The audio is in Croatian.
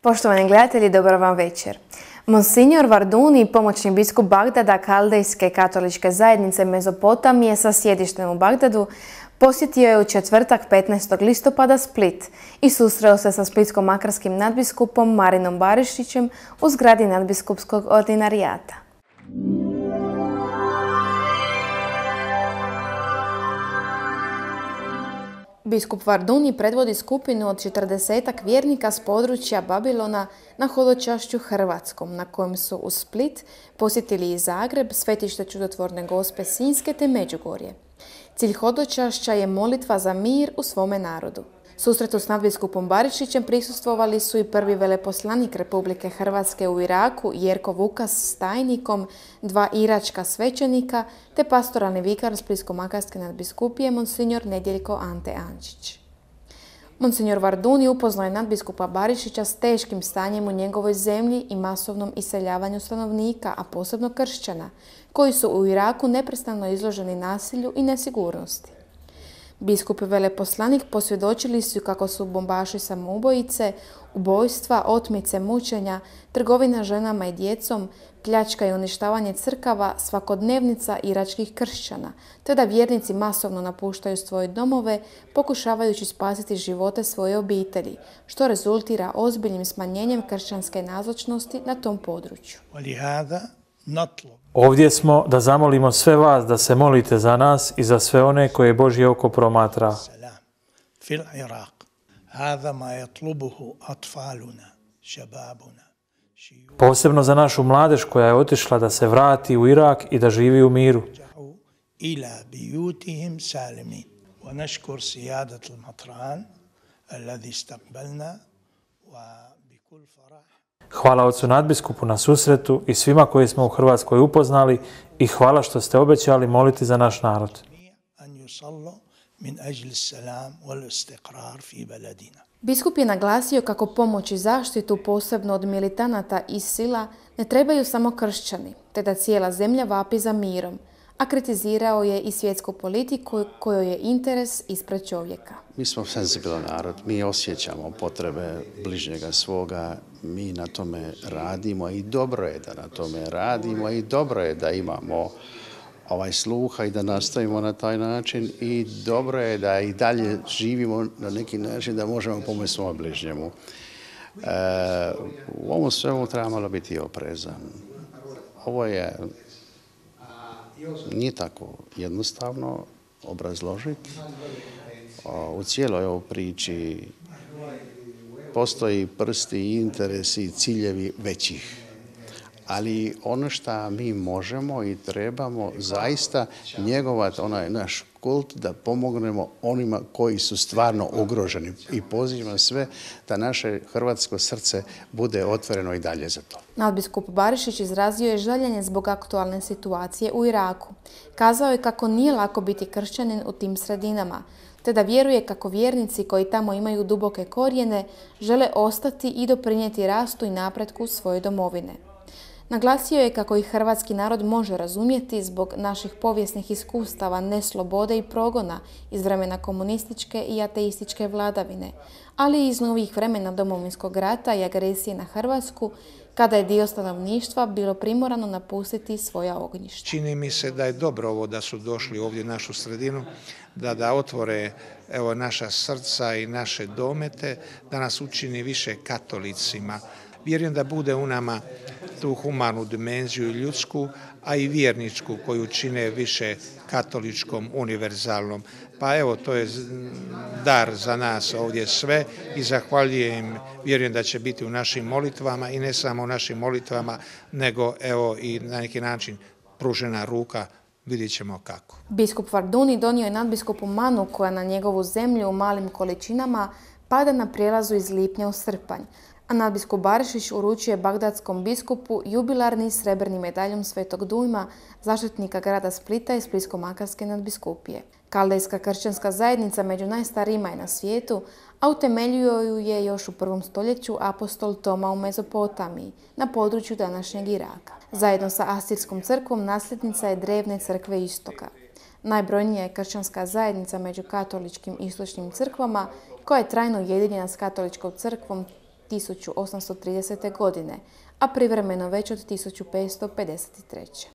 Poštovani gledatelji, dobar vam večer. Monsignor Varduni, pomoćni biskup Bagdada Kaldejske katoličke zajednice Mezopotamije sa sjedištem u Bagdadu, posjetio je u četvrtak 15. listopada Split i susreo se sa splitsko-makarskim nadbiskupom Marinom Barišićem u zgradi nadbiskupskog ordinarijata. Biskup Varduni predvodi skupinu od 40-ak vjernika s područja Babilona na hodočašću hrvatskom, na kojem su uz Split posjetili i Zagreb, Svetište Čudotvorne Gospe Sinjske te Međugorje. Cilj hodočašća je molitva za mir u svome narodu. Susretu s nadbiskupom Barišićem prisustvovali su i prvi veleposlanik Republike Hrvatske u Iraku Jerko Vukas s tajnikom, 2 iračka svećenika te pastoralni vikar Splitsko-makarske nadbiskupije Monsignor Nedjeljko Ante Ančić. Monsignor Varduni upoznao je nadbiskupa Barišića s teškim stanjem u njegovoj zemlji i masovnom iseljavanju stanovnika, a posebno kršćana, koji su u Iraku neprestano izloženi nasilju i nesigurnosti. Biskup i veleposlanik posvjedočili su kako su bombaši samoubojice, ubojstva, otmice, mučenja, trgovina ženama i djecom, pljačka i uništavanje crkava svakodnevnica iračkih kršćana, te da vjernici masovno napuštaju svoje domove pokušavajući spasiti živote svoje obitelji, što rezultira ozbiljnim smanjenjem kršćanske nazočnosti na tom području. Ovdje smo da zamolimo sve vas da se molite za nas i za sve one koje Božje oko promatra. Posebno za našu mladež koja je otišla da se vrati u Irak i da živi u miru. Hvala ocu nadbiskupu na susretu i svima koje smo u Hrvatskoj upoznali i hvala što ste obećali moliti za naš narod. Biskup je naglasio kako pomoć i zaštitu, posebno od militanata ISIL-a, ne trebaju samo kršćani, te da cijela zemlja vapi za mirom, a kritizirao je i svjetsku politiku kojoj je interes ispred čovjeka. Mi smo senzibilan narod, mi osjećamo potrebe bližnjega svoga, mi na tome radimo i dobro je da na tome radimo i dobro je da imamo sluha i da nastavimo na taj način i dobro je da i dalje živimo na neki način da možemo pomoći svom bližnjemu. U ovom svemu treba malo biti oprezan. Ovo nije tako jednostavno obrazložiti. U cijeloj ovoj priči postoji prsti i interesi i ciljevi većih. Ali ono što mi možemo i trebamo zaista njegovati onaj naš kult da pomognemo onima koji su stvarno ugroženi. I pozivam sve da naše hrvatsko srce bude otvoreno i dalje za to. Nadbiskup Barišić izrazio je žaljenje zbog aktualne situacije u Iraku. Kazao je kako nije lako biti kršćanin u tim sredinama, te da vjeruje kako vjernici koji tamo imaju duboke korijene žele ostati i doprinijeti rastu i napretku svoje domovine. Naglasio je kako ih hrvatski narod može razumjeti zbog naših povijesnih iskustava neslobode i progona iz vremena komunističke i ateističke vladavine, ali i iz novih vremena Domovinskog rata i agresije na Hrvatsku, kada je dio stanovništva bilo primorano napustiti svoja ognjišta. Čini mi se da je dobro ovo da su došli ovdje u našu sredinu, da otvore naša srca i naše domete, da nas učini više katolicima. Vjerujem da bude u nama tu humanu dimenziju ljudsku, a i vjerničku koju čine više katoličkom, univerzalnom. Pa evo, to je dar za nas ovdje sve i zahvaljujem, vjerujem da će biti u našim molitvama i ne samo u našim molitvama, nego evo i na neki način pružena ruka, vidjet ćemo kako. Biskup Varduni donio je nadbiskupu manu koja na njegovu zemlju u malim količinama pada na prijelazu iz lipnja u srpanj, a nadbiskup Barišić uručuje bagdadskom biskupu jubilarni srebrni medaljon Svetog Dujma, zaštitnika grada Splita i Splitsko-makarske nadbiskupije. Kaldejska kršćanska zajednica među najstarijima je na svijetu, a utemeljio ju je još u 1. stoljeću apostol Toma u Mezopotamiji, na području današnjeg Iraka. Zajedno sa Asirskom crkvom nasljednica je drevne crkve Istoka. Najbrojnija je kršćanska zajednica među katoličkim istočnim crkvama, koja je trajno ujedinjena s katoličkom crkvom 1830. godine, a privremeno već od 1553.